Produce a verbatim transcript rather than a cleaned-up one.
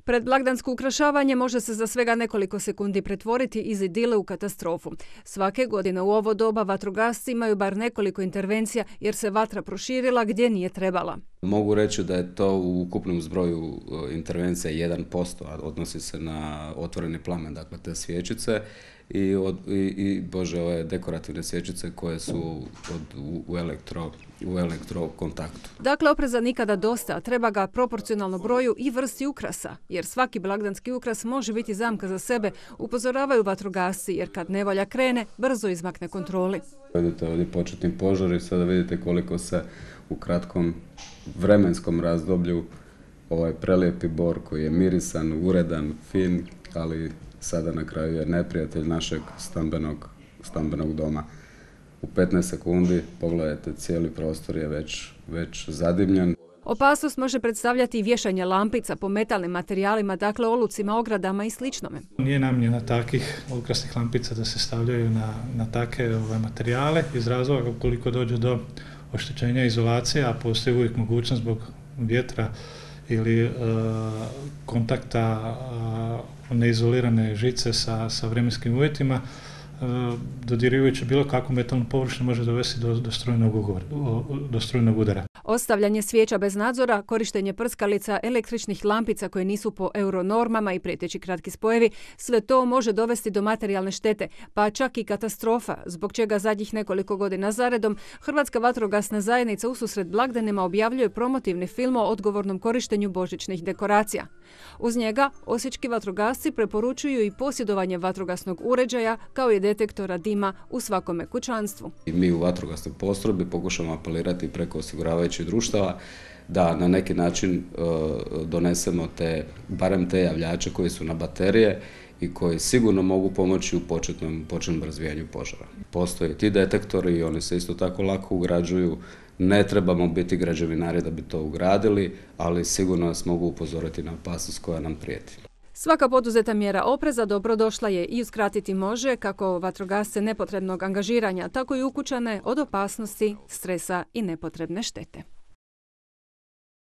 Predblagdansko ukrašavanje može se za svega nekoliko sekundi pretvoriti iz idile u katastrofu. Svake godine u ovo doba vatrogasci imaju bar nekoliko intervencija jer se vatra proširila gdje nije trebala. Mogu reći da je to u ukupnom zbroju intervencija jedan posto, a odnosi se na otvoreni plamen, dakle te svječice i, od, i, i bože, ove dekorativne svječice koje su od, u, u, elektro, u elektrokontaktu. Dakle, opreza nikada dosta, treba ga proporcionalno broju i vrsti ukrasa, jer svaki blagdanski ukras može biti zamka za sebe, upozoravaju vatrogasci, jer kad nevolja krene, brzo izmakne kontroli. Vidite ovdje početni požar i sada vidite koliko se u kratkom vremenskom razdoblju ovaj prelijepi bor koji je mirisan, uredan, fin, ali sada na kraju je neprijatelj našeg stambenog, stambenog doma. U petnaest sekundi, pogledajte, cijeli prostor je već, već zadimljen. Opasnost može predstavljati i vješanje lampica po metalnim materijalima, dakle olucima, ogradama i sličnome. Nije namjena takvih ukrasnih lampica da se stavljaju na, na takve ove materijale iz razloga ukoliko dođe do oštećenja izolacije, a postoji uvijek mogućnost zbog vjetra ili e, kontakta e, neizolirane žice sa, sa vremenskim uvjetima, e, dodirivajući bilo kakvu metalnu površinu može dovesti do, do, strujnog ugora, do strujnog udara. Ostavljanje svijeća bez nadzora, korištenje prskalica, električnih lampica koje nisu po euronormama i prijeteći kratki spojevi, sve to može dovesti do materijalne štete, pa čak i katastrofa, zbog čega zadnjih nekoliko godina zaredom Hrvatska vatrogasna zajednica ususret blagdanima objavljuje promotivni film o odgovornom korištenju božićnih dekoracija. Uz njega osječki vatrogasci preporučuju i posjedovanje vatrogasnog uređaja kao i detektora dima u svakome kućanstvu. I mi u vatrogasnoj postrojbi pokušamo apelirati preko osiguravajućih društava da na neki način e, donesemo te, barem te javljače koji su na baterije i koji sigurno mogu pomoći u početnom, početnom razvijanju požara. Postoje ti detektori i oni se isto tako lako ugrađuju. Ne trebamo biti građevinari da bi to ugradili, ali sigurno nas mogu upozoriti na opasnost koja nam prijeti. Svaka poduzeta mjera opreza dobrodošla je i uskratiti može kako vatrogasce nepotrebnog angažiranja, tako i ukućane od opasnosti, stresa i nepotrebne štete.